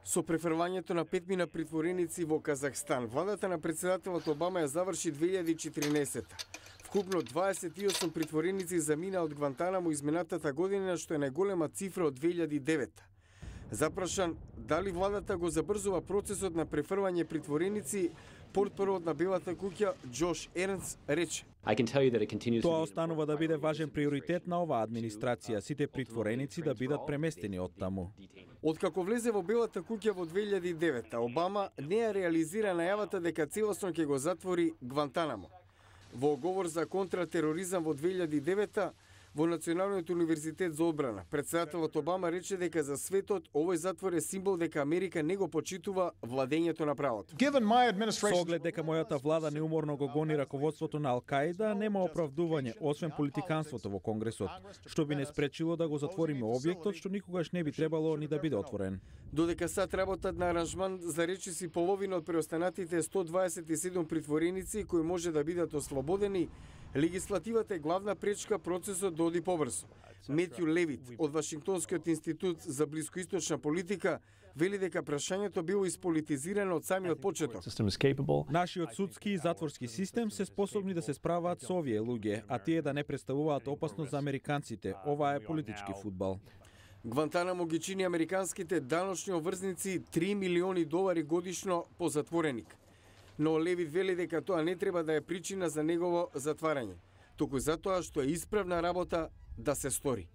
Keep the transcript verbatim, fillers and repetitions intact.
Со префрвањето на петмина притвореници во Казахстан, владата на председателот Обама ја заврши две илјади и четирнаесетта. Вкупно дваесет и осум притвореници замина од Гвантанамо изминатата година, што е најголема цифра од две илјади и деветта. Запрашан дали владата го забрзува процесот на префрвање притвореници, портпаролот на Белата куќа Џош Ернс рече: Тоа останува да биде важен приоритет на оваа администрација, сите притвореници да бидат преместени од таму. Откако влезе во Белата куќа во две илјади и деветта, Обама не ја реализира најавата дека целосно ќе го затвори Гвантанамо. Во оговор за контратероризам во две илјади и деветта, во Националниот универзитет за одбрана, председателот Обама рече дека за светот овој затвор е символ дека Америка не го почитува владењето на правото. Со оглед дека мојата влада неуморно го гони раководството на Ал-Каида, нема оправдување, освен политиканството во Конгресот, што би не спречило да го затвориме објектот, што никогаш не би требало ни да биде отворен. Додека сад работат на аранжман за речиси половина од преостанатите сто дваесет и седум притвореници кои може да бидат ослободени, легислативата е главна пречка процесот да оди побрзо. Метју Левит од Вашингтонскиот институт за блискоисточна политика вели дека прашањето било исполитизирано од самиот почеток. Нашиот судски и затворски систем се способни да се справаат со овие луѓе, а тие да не представуваат опасност за американците. Ова е политички фудбал. Гвантанамо ги чини американските даночни обврзници три милиони долари годишно по затвореник. Но Левит вели дека тоа не треба да е причина за негово затварање, туку затоа што е исправна работа да се стори.